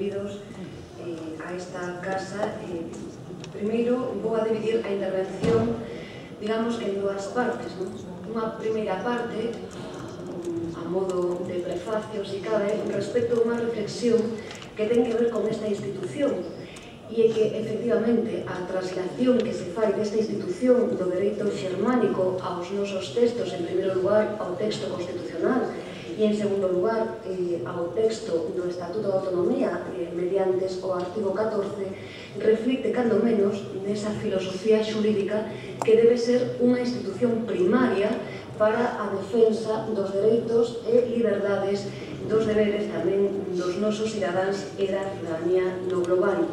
benvidos a esta casa. Primeiro, vou a dividir a intervención, digamos que en dúas partes. Unha primeira parte, a modo de prefacio, se cabe, respecto a unha reflexión que ten que ver con esta institución, e é que, efectivamente, a traslación que se fai desta institución do dereito xermánico aos nosos textos, en primeiro lugar, ao texto constitucional, e, en segundo lugar, ao texto do Estatuto de Autonomía, mediante o artigo 14, reflicte, cando menos, nesa filosofía xurídica que debe ser unha institución primaria para a defensa dos dereitos e liberdades, dos deberes tamén dos nosos cidadáns e da cidadanía no global.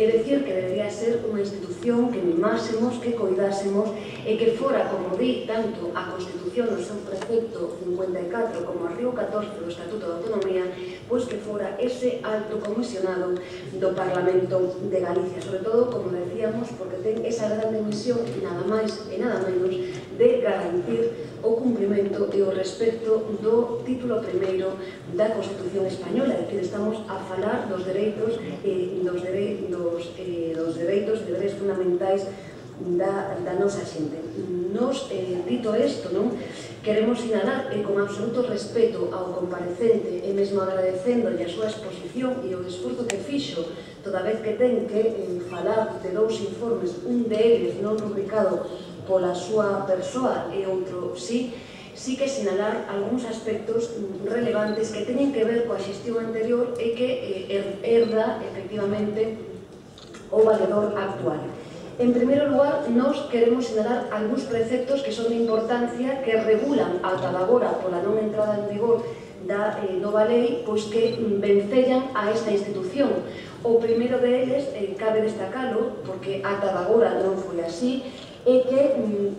É dicir, que debería ser unha institución que mimásemos, que coidásemos e que fora, como di tanto a Constitución no seu precepto 54 como o artigo 14 do Estatuto de Autonomía, pois que fora ese alto comisionado do Parlamento de Galicia, sobre todo, como decíamos, porque ten esa grande misión, nada máis e nada menos, de garantir o cumprimento e o respecto do título primeiro da Constitución Española. É dicir, estamos a falar dos dereitos e deberes fundamentais da nosa xente. Nos, dito isto, queremos sinalar con absoluto respeto ao comparecente e mesmo agradecéndolle a súa exposición e o esforzo que fixo toda vez que ten que falar de dous informes, un deles non rubricado pola súa persoa e outro sí que sinalar algúns aspectos relevantes que teñen que ver coa xestión anterior e que herda, efectivamente, o valedor actual. En primeiro lugar, nos queremos sinalar algúns preceptos que son de importancia, que regulan ata agora pola non entrada en vigor da nova lei, pois que vencellan a esta institución. O primeiro deles, cabe destacalo, porque ata agora non foi así, é que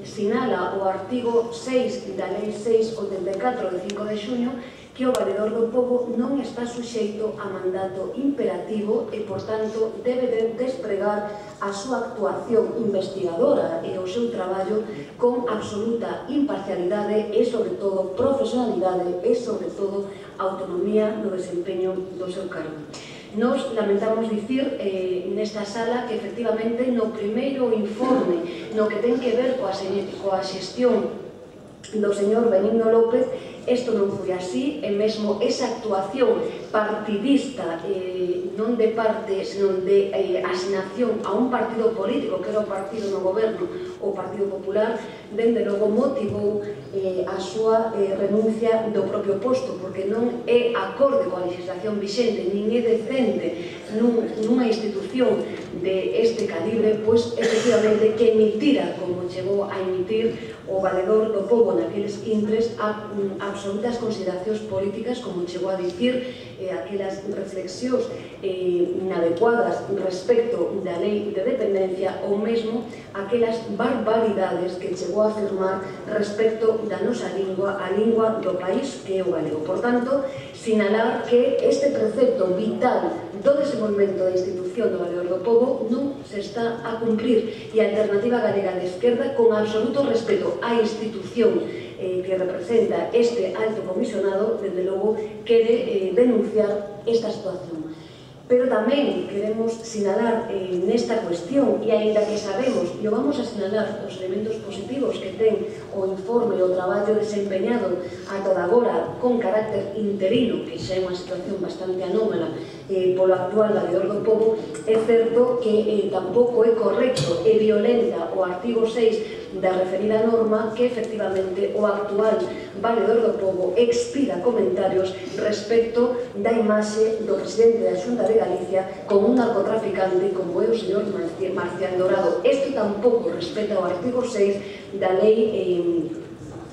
sinala o artigo 6 da Lei 684 de 5 de xuño que o valedor do pobo non está suxeito a mandato imperativo e, por tanto, debe de despregar a súa actuación investigadora e o seu traballo con absoluta imparcialidade e, sobre todo, profesionalidade e, sobre todo, autonomía no desempeño do seu cargo. Nos lamentamos dicir nesta sala que, efectivamente, no primeiro informe no que ten que ver coa xestión do señor Benigno López, isto non foi así, e mesmo esa actuación partidista, non de parte, senón de asignación a un partido político, que era o partido no goberno, o Partido Popular, dende logo motivou a súa renuncia do propio posto, porque non é acorde coa legislación vixente, nin é decente nunha institución de este calibre, pois, efectivamente, que emitira, como chegou a emitir o valedor do pobo naqueles intres, absolutas consideracións políticas, como chegou a dicir, aquelas reflexións inadecuadas respecto da lei de dependencia, ou mesmo aquelas barbaridades que chegou a afirmar respecto da nosa lingua, a lingua do país, que é o galego. Por tanto, sinalar que este precepto vital do desenvolvemento da institución do valedor do pobo non se está a cumprir, e a Alternativa Galega de Esquerda, con absoluto respeto á institución que representa este alto comisionado, desde logo, quere denunciar esta situación. Pero tamén queremos sinalar nesta cuestión, e aínda que sabemos, e o vamos a sinalar, os elementos positivos que ten o informe e o traballo desempeñado ata agora con carácter interino, que xa é unha situación bastante anómala polo actual valedor do pobo, é certo que tampouco é correcto e violenta o artigo 6 da referida norma que, efectivamente, o actual valedor do pobo expira comentarios respecto da imaxe do presidente da Xunta de Galicia como un narcotraficante, como é o señor Marcial Dorado. Isto tampouco respeta o artigo 6 da lei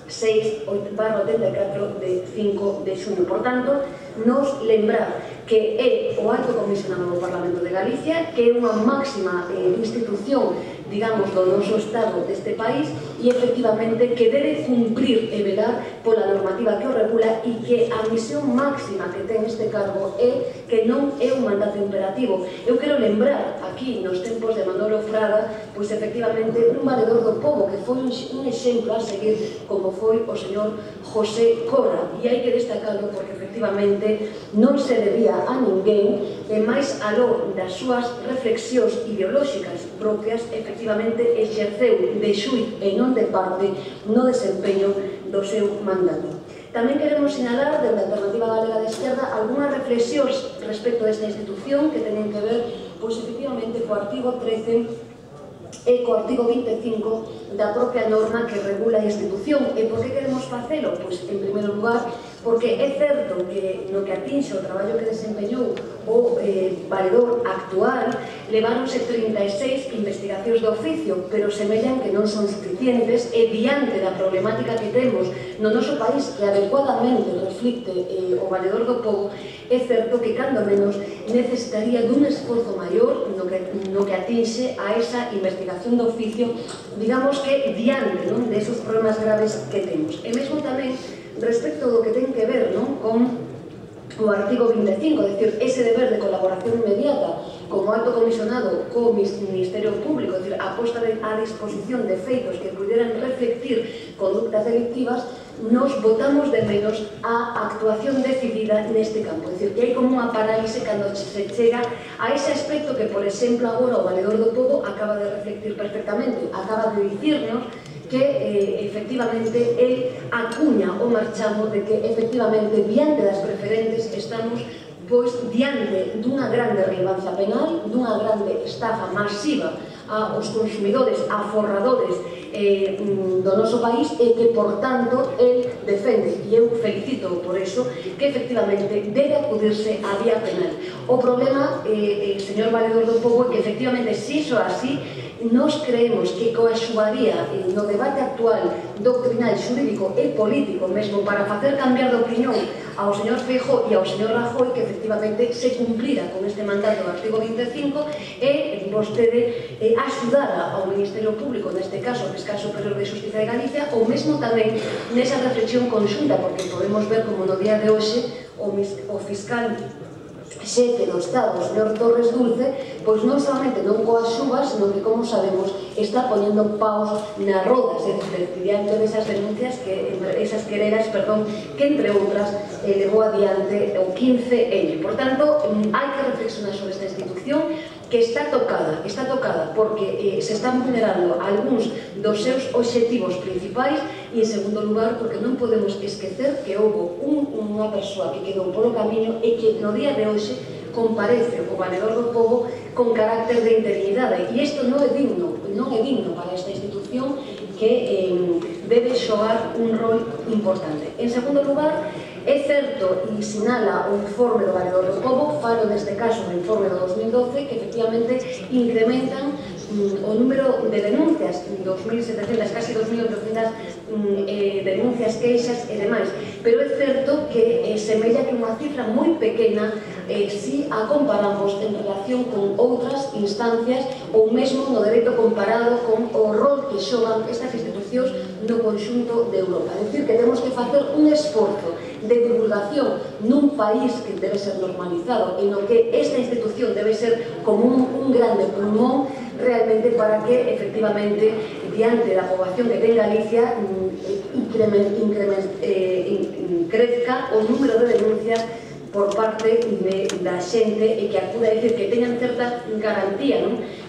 6/84 de 5 de xuño. Por tanto, nos lembrar que é o alto comisionado do Parlamento de Galicia, que é unha máxima institución digamos, do noso Estado deste país e, efectivamente, que debe cumprir e velar pola normativa que o regula e que a misión máxima que ten este cargo é que non é un mandato imperativo. Eu quero lembrar aquí, nos tempos de Manolo Fraga, pois, efectivamente, un valedor do pobo que foi un exemplo a seguir, como foi o señor José Cora, e hai que destacarlo porque, efectivamente, non se debía a ninguén, e máis aló das súas reflexións ideolóxicas propias, efectivamente, exerceu de xuiz e non de parte no desempeño do seu mandato. Tamén queremos sinalar, desde a Alternativa Galega de Esquerda, algunhas reflexións respecto desta institución que tenen que ver, pois, efectivamente, co artigo 13 e co artigo 25 da propia norma que regula a institución. E por que queremos facelo? Pois, en primeiro lugar, porque é certo que no que atinxe o traballo que desempeñou o valedor actual, leváronse 36 investigacións de oficio, pero semellan que non son suficientes e diante da problemática que temos no noso país que adecuadamente reflicte o valedor do pobo, é certo que, cando menos, necesitaría dun esforzo maior no que atinxe a esa investigación de oficio, digamos que diante desos problemas graves que temos. E mesmo tamén respecto do que ten que ver con o artigo 25, é dicir, ese deber de colaboración inmediata como alto comisionado co Ministerio Público, é dicir, a posta a disposición de feitos que puderan reflectir conductas delictivas, nos botamos de menos a actuación decidida neste campo. É dicir, que hai como unha parálise cando se chega a ese aspecto que, por exemplo, agora o valedor do pobo acaba de reflectir perfectamente, acaba de dicirnos que, efectivamente, el acuña o marchamo de que, efectivamente, diante das preferentes estamos pois diante dunha grande relevancia penal, dunha grande estafa masiva aos consumidores, a forradores do noso país e que, por tanto, el defende, e eu felicito por eso, que efectivamente debe acudirse á vía penal. O problema, señor valedor do pobo, é que, efectivamente, se iso así, nos creemos que coaxuaría no debate actual doctrinal, xurídico e político mesmo para facer cambiar de opinión ao señor Feijóo e ao señor Rajoy que efectivamente se cumplira con este mandato do artigo 25 e vostede axudara ao Ministerio Público, neste caso o Fiscal Superior de Xustiza de Galicia, ou mesmo tamén nesa reflexión conxunta, porque podemos ver como no día de hoxe o fiscal xefe do Estado, o señor Torres Dulce, pois non solamente non coaxuva, sino que, como sabemos, está poñendo paus na roda, diante desas denuncias, esas quereras, que, entre outras, levou adiante o 15N. Por tanto, hai que reflexionar sobre esta institución que está tocada porque se están vulnerando algúns dos seus obxectivos principais e, en segundo lugar, porque non podemos esquecer que houve unha persoa que quedou polo camiño e que no día de hoxe comparece o valedor do pobo con carácter de interinidade, e isto non é digno para esta institución que debe xogar un rol importante. En segundo lugar, é certo, e sinala o informe do valedor do pobo, falo neste caso do informe do 2012, que efectivamente incrementan o número de denuncias, 2.700, casi 2.800 denuncias, queixas e demais, pero é certo que semella que unha cifra moi pequena si a comparamos en relación con outras instancias ou mesmo no dereito comparado con o rol que xogan estas institucións no conxunto de Europa. É dicir, que temos que facer un esforzo de divulgación nun país que debe ser normalizado e no que esta institución debe ser como un grande pulmón realmente para que, efectivamente, diante da poboación que ten Galicia, crezca o número de denuncias por parte da xente e que acuda a dicir que teñan certa garantía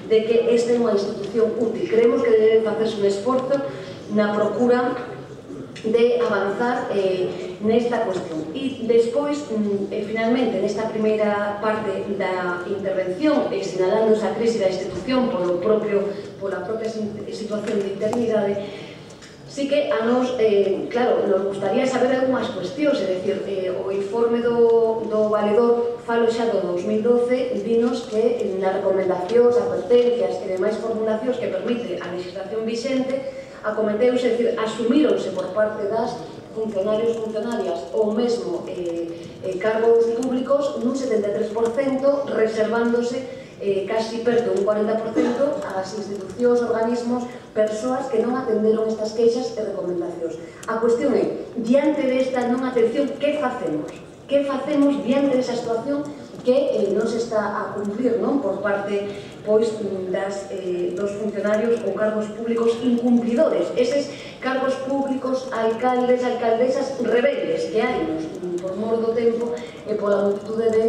de que esta é unha institución útil. Creemos que debe facerse un esforzo na procura de avanzar nesta cuestión. E despois, finalmente, nesta primeira parte da intervención, sinalando esa crise da institución pola propia situación de interinidade, sí que a nos, claro, nos gustaría saber algunhas cuestións, é dicir, o informe do valedor, falo xa do 2012, dinos que nas recomendacións, advertencias e demais formulacións que permite a legislación vixente, acometeuse, é dicir, asumíronse por parte das funcionarios, funcionarias ou mesmo cargos públicos nun 73%, reservándose casi perto un 40% ás institucións, organismos, persoas que non atenderon estas queixas e recomendacións. A cuestión é, diante desta non atención, que facemos? Que facemos diante desa situación que non se está a cumplir por parte dos funcionarios ou cargos públicos incumplidores, eses cargos públicos, alcaldes, alcaldesas rebeldes que hai por mor do tempo e pola multitude de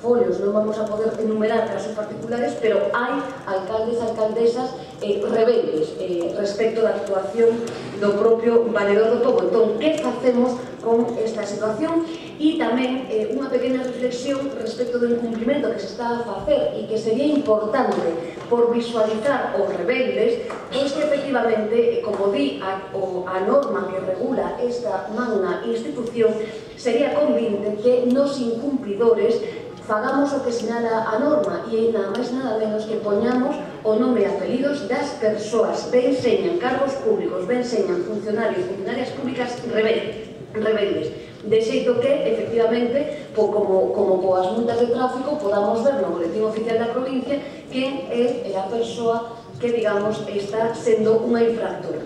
folios. Non vamos a poder enumerar casos particulares, pero hai alcaldes, alcaldesas rebeldes respecto da actuación do propio Valedor do Pobo. Entón, que facemos con esta situación? E tamén unha pequena reflexión respecto do incumprimento que se está a facer e que sería importante por visualizar os rebeldes, pois que efectivamente, como di a norma que regula esta magna institución, sería convinte que nos incumpridores fagamos o que sinala a norma e nada máis nada menos que poñamos o nome e apelidos das persoas, ben señan cargos públicos, ben señan funcionarios, funcionarias públicas rebeldes, de xeito que, efectivamente, como coas multas de tráfico, podamos ver no boletín oficial da provincia quen é a persoa que, digamos, está sendo unha infractora.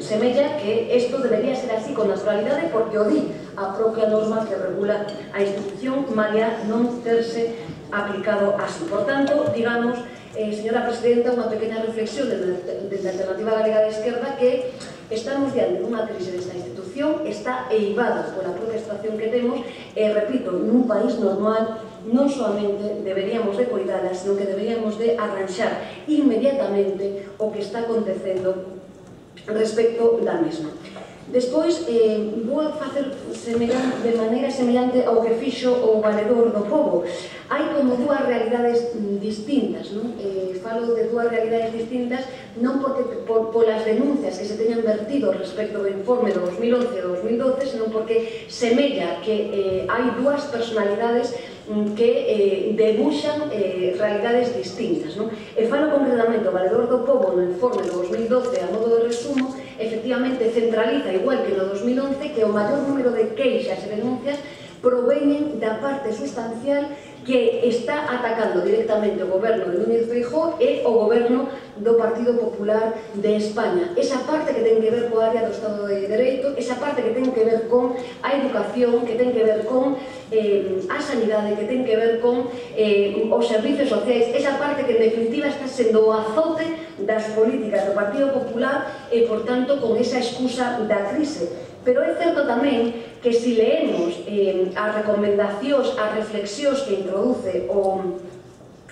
Semella que isto debería ser así con naturalidade porque o di a propia norma que regula a institución, malia non terse aplicado así. Por tanto, digamos, señora Presidenta, unha pequena reflexión desde a Alternativa Galega de Esquerda que estamos diante dunha crise desta institución, está eivada pola propia situación que temos e, repito, nun país normal non solamente deberíamos de cuidala, sino que deberíamos de arranxar inmediatamente o que está acontecendo respecto da mesma. Despois, vou a facer de maneira semellante ao que fixo o Valedor do Pobo. Hai como dúas realidades distintas, non? Falo de dúas realidades distintas non porque polas denuncias que se teñan vertido respecto do informe do 2011 e do 2012, senón porque semella que hai dúas personalidades que debuxan realidades distintas. E falo concretamente o Valedor do Pobo no informe do 2012 a modo de resumo, efectivamente centraliza, igual que no 2011, que o maior número de queixas e denuncias proveñen da parte sustancial que está atacando directamente o goberno de Núñez Feijóo e o goberno do Partido Popular de España. Esa parte que ten que ver coa área do Estado de Dereito, esa parte que ten que ver con a educación, que ten que ver con a sanidade, que ten que ver con os servicios sociais, esa parte que en definitiva está sendo o azote das políticas do Partido Popular e, por tanto, con esa excusa da crise. Pero é certo tamén que se leemos as recomendacións, as reflexións que introduce o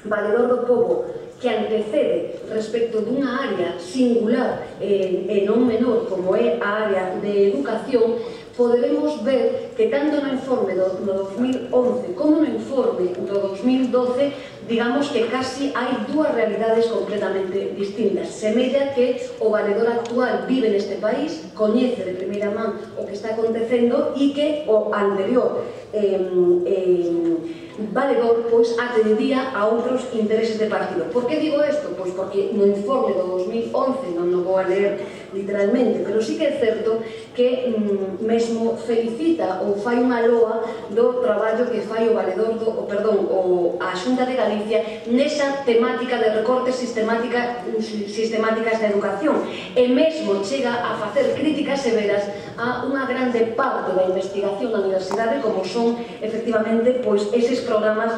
Valedor do Pobo, que antecede respecto dunha área singular e non menor como é a área de educación, poderemos ver que tanto no informe do 2011 como no informe do 2012, digamos que casi hai dúas realidades completamente distintas. Semella que o valedor actual vive neste país, coñece de primeira man o que está acontecendo e que o anterior valedor atendía a outros intereses de partido. Por que digo isto? Pois porque no informe do 2011, non o vou a ler literalmente, pero sí que é certo que mesmo felicita ou fai unha loa do traballo que fai o valedor a Xunta de Galicia nesa temática de recortes sistemáticas da educación, e mesmo chega a facer críticas severas a unha grande parte da investigación na universidade, como son efectivamente eses programas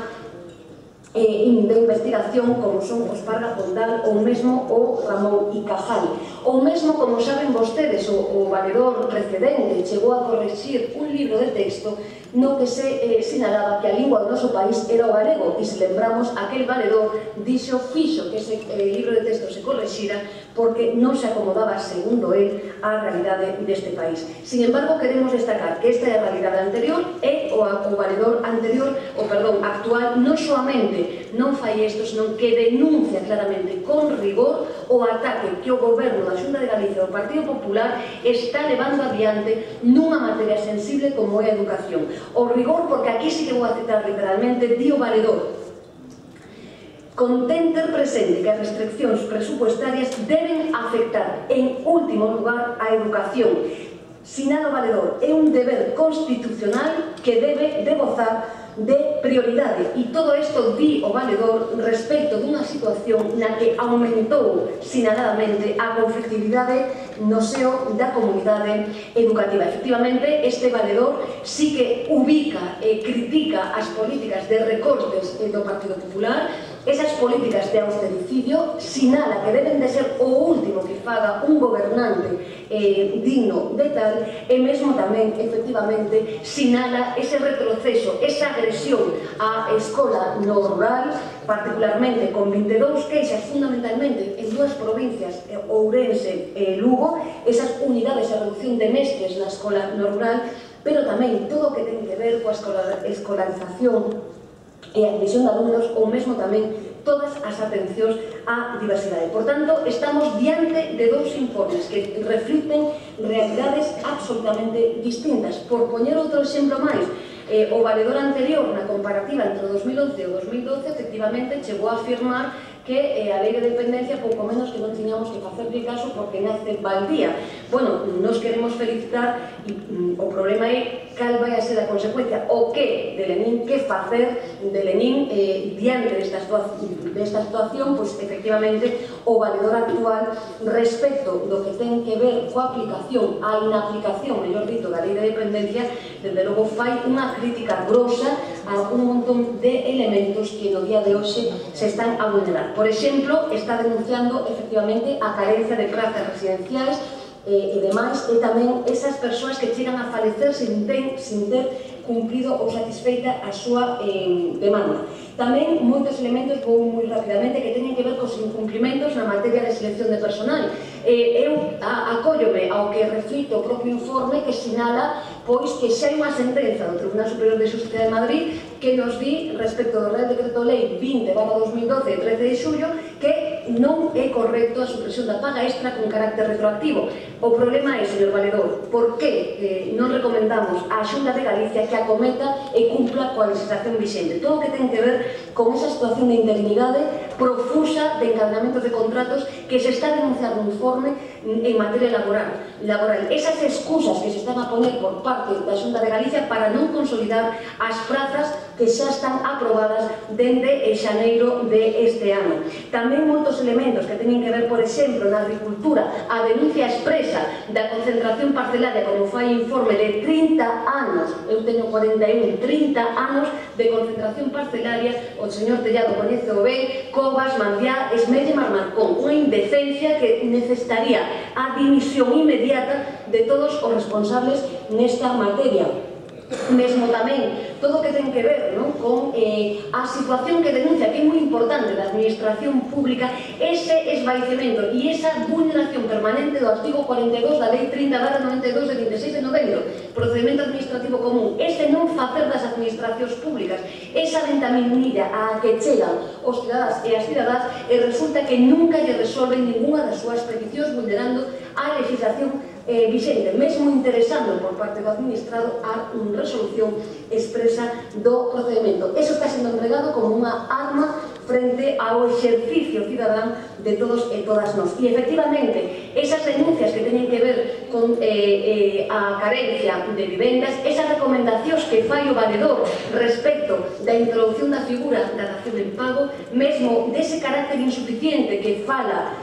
de investigación como son os Parga Fondal ou mesmo o Ramón y Cajal. Ou mesmo, como saben vostedes, o valedor precedente chegou a correxir un libro de texto no que se sinalaba que a lingua do noso país era o galego, e se lembramos, aquel valedor fixo que ese libro de texto se correxira porque non se acomodaba, segundo él, á realidade deste país. Sin embargo, queremos destacar que esta é a realidade anterior e o valedor actual non solamente non fai isto, senón que denuncia claramente con rigor o ataque que o goberno da Xunta de Galicia do Partido Popular está levando adiante nunha materia sensible como é a educación. O rigor, porque aquí sí que vou a citar literalmente, di o valedor: contén ter presente que as restriccións presupuestarias deben afectar en último lugar a educación. Sinala o valedor, é un deber constitucional que debe de gozar de prioridade. E todo isto di o valedor respecto dunha situación na que aumentou sinaladamente a conflictividade no seo da comunidade educativa. Efectivamente, este valedor sí que ubica e critica as políticas de recortes do Partido Popular, esas políticas de austericidio, sinala que deben de ser o último que faga un gobernante digno de tal, e mesmo tamén, efectivamente, sinala ese retroceso, esa agresión á escola no rural, particularmente con 22 queixas fundamentalmente en dúas provincias, Ourense e Lugo, esas unidades de reducción de mestres na escola no rural, pero tamén todo o que ten que ver coa escolarización e a admisión de alumnos, ou mesmo tamén todas as atencións á diversidade. Por tanto, estamos diante de dous informes que reflicten realidades absolutamente distintas. Por poñer outro exemplo máis, o valedor anterior, na comparativa entre o 2011 e o 2012, efectivamente chegou a afirmar que a lei de dependencia pouco menos que non tiñamos que facerlle caso porque nace baldía. Bueno, nos queremos felicitar e o problema é cal vai a ser a consecuencia, o que de Lenín, que facer de Lenín diante desta situación, pois efectivamente o valedor actual respecto do que ten que ver coa aplicación, a inaplicación, mellor dito, da lei de dependencia, desde logo fai unha crítica grosa a un montón de elementos que no día de hoxe se están a vulnerar. Por exemplo, está denunciando efectivamente a carencia de prazas residenciais e demais, e tamén esas persoas que chegan a falecer sin ter cumprido ou satisfeita a súa demanda. Tamén moitos elementos, vou moi rapidamente, que teñen que ver cos incumprimentos na materia de selección de personal. Eu acóllome ao que reflite o propio informe que sinala pois que xa hai unha sentenza do Tribunal Superior de Xusticia de Madrid que nos di respecto do Real Decreto Lei 20/2012 de 13 de xullo que non é correcto a supresión da paga extra con carácter retroactivo. O problema é, señor valedor, por que non recomendamos á Xunta de Galicia que acometa e cumpla coa legislación vixente? Todo o que ten que ver con esa situación de interinidade profusa de encadenamentos de contratos que se está denunciando no informe en materia laboral. Esas excusas que se están a poner por parte da Xunta de Galicia para non consolidar as prazas que xa están aprobadas dende xaneiro deste ano. Tamén moitos elementos que teñen que ver, por exemplo, na agricultura, a denuncia expresa da concentración parcelaria, como fai informe de 30 anos, eu teño 41, 30 anos de concentración parcelaria, o señor Tellado coñece o ben, Covas, Mandiá, Esmelle e Marmarcón, unha indecencia que necesitaría a dimisión inmediata de todos os responsables nesta materia. Mesmo tamén todo o que ten que ver con a situación que denuncia, que é moi importante, da administración pública, ese esvaecemento e esa vulneración permanente do artigo 42 da Lei 30/92 de 26 de novembro, procedimento administrativo común, ese non facer das administracións públicas, esa ventaminilla a que chegan os cidadáns e as cidadás, e resulta que nunca lle resolven ninguna das súas peticións vulnerando a legislación vixente, mesmo interesando por parte do administrado a resolución expresa do procedimento. Eso está sendo empregado como unha arma frente ao exercicio cidadán de todos e todas nós. E, efectivamente, esas denuncias que teñen que ver con a carencia de vivendas, esas recomendacións que fai o valedor respecto da introducción da figura da dación en pago, mesmo dese carácter insuficiente que fala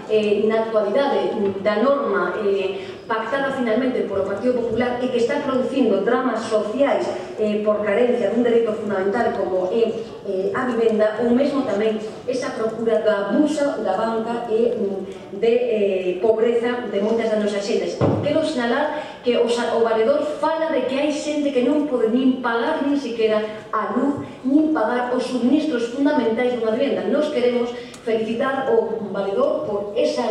na actualidade da norma pactada finalmente por o Partido Popular e que está producindo dramas sociais por carencia dun dereito fundamental como é a vivenda, ou mesmo tamén esa procura do abuso da banca e de pobreza de moitas das nosas xentes. Quero sinalar que o valedor fala de que hai xente que non pode nin pagar nin siquiera a luz, nin pagar os suministros fundamentais dunha vivenda. Nos queremos felicitar o valedor por esa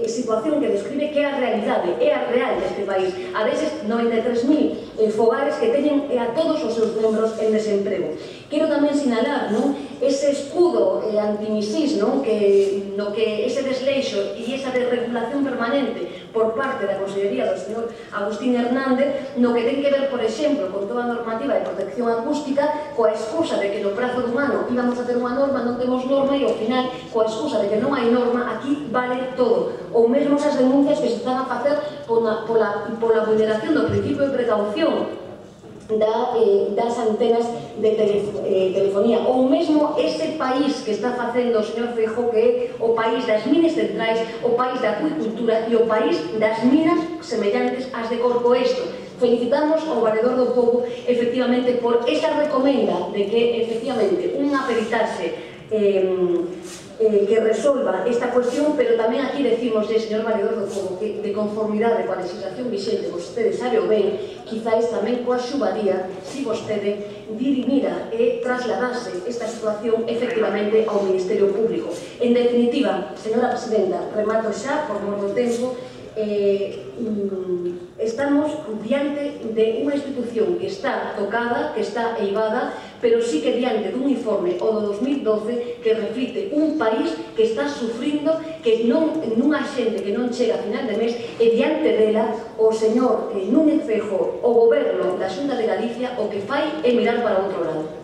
situación que describe que é a realidade, é a real deste país, a deses 93.000 fogares que teñen a todos os seus membros en desemprego. Quero tamén sinalar ese escudo antimisís, no que ese desleixo e esa desregulación permanente por parte da Consellería do señor Agustín Hernández, no que ten que ver, por exemplo, con toda a normativa de protección acústica, coa excusa de que no prazo dun ano íbamos a ter unha norma, non temos norma, e ao final, coa excusa de que non hai norma, aquí vale todo. Ou mesmo esas denuncias que se están a facer pola vulneración do principio de precaución das antenas de telefonía, ou mesmo ese país que está facendo o señor Feijóo, que é o país das minas centrais, o país da acuicultura e o país das minas semellantes ás de Corcoesto. Felicitamos ao Valedor do Pobo, efectivamente, por esa recomenda de que, efectivamente, unha peritaxe que resolva esta cuestión, pero tamén aquí decimos, señor Valedor do Pobo, que de conformidade coa legislación vixente, vostede sabe o ben, quizáis tamén coa xubaría, si vostede dirimira e trasladase esta situación efectivamente ao Ministerio Público. En definitiva, señora Presidenta, remato xa por mor do tempo, estamos diante de unha institución que está tocada, que está eivada, pero sí que diante dun informe, o do 2012, que reflite un país que está sufrindo, que nunha xente que non chega a final de mes, e diante dela o señor Núñez Feijóo, o goberno da Xunta de Galicia, o que fai é mirar para outro lado.